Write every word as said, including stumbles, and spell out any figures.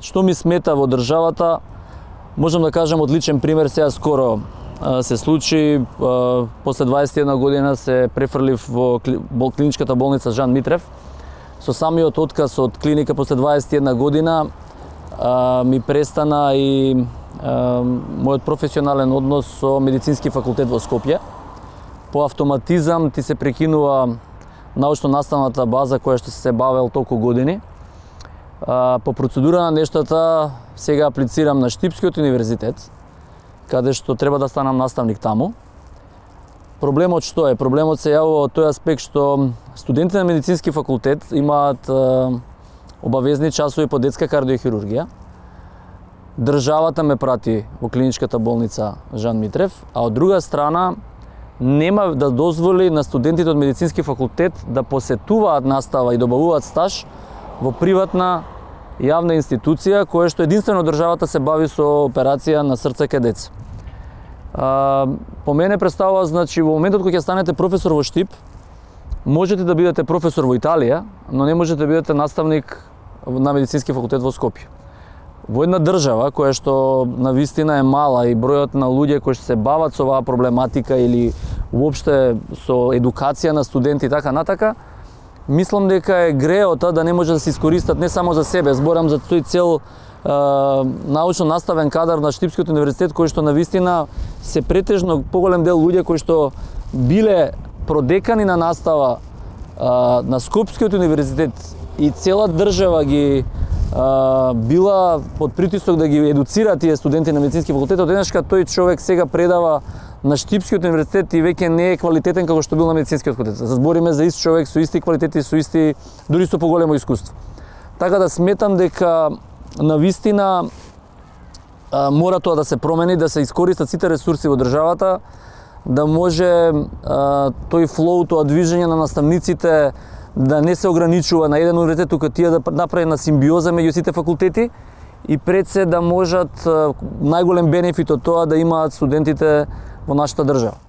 што ми смета во државата, можам да кажам од личен пример, сега скоро се случи, после дваесет и една година се префрлив во клиничката болница Жан Митрев. Со самиот отказ од клиника после дваесет и една година ми престана и мојот професионален однос со медицински факултет во Скопје. По автоматизам ти се прекинува научно-наставната база која што се бавел толку години. По процедура на нештата сега аплицирам на Штипскиот универзитет, каде што треба да станам наставник таму. Проблемот што е? Проблемот се јавува од тој аспект што студентите на медицински факултет имаат обавезни часови по детска кардиохирургија. Државата ме прати во клиничката болница Жан Митрев, а од друга страна нема да дозволи на студентите од медицински факултет да посетуваат настава и добавуваат стаж во приватна јавна институција која што единствено државата се бави со операција на срце кај деца. По мене представува, значи, во моментот кога ќе станете професор во Штип, можете да бидете професор во Италија, но не можете да бидете наставник на медицински факултет во Скопје. Во една држава која што навистина е мала и бројот на луѓе кои што се бават со оваа проблематика или уопште со едукација на студенти и така натака, мислам дека е греота да не може да се искористат не само за себе, зборам за тој цел е, научно-наставен кадар на Штипскиот универзитет кој што навистина се претежно поголем дел луѓе кои што биле продекани на настава е, на Скопскиот универзитет и цела држава ги Uh, била под притисок да ги едуцира тие студенти на медицински факултет, одеднашка тој човек сега предава на Штипскиот универзитет и веќе не е квалитетен како што бил на медицинскиот факултет. Збориме за ист човек со исти квалитети, со исти, дури со поголемо искуство. Така да сметам дека навистина uh, мора тоа да се промени, да се искористат сите ресурси во државата, да може uh, тој флоу, тоа движење на наставниците да не се ограничува на еден универзитет, тука тие да направи на симбиоза меѓу сите факултети и пред се да можат најголем бенефит од тоа да имаат студентите во нашата држава.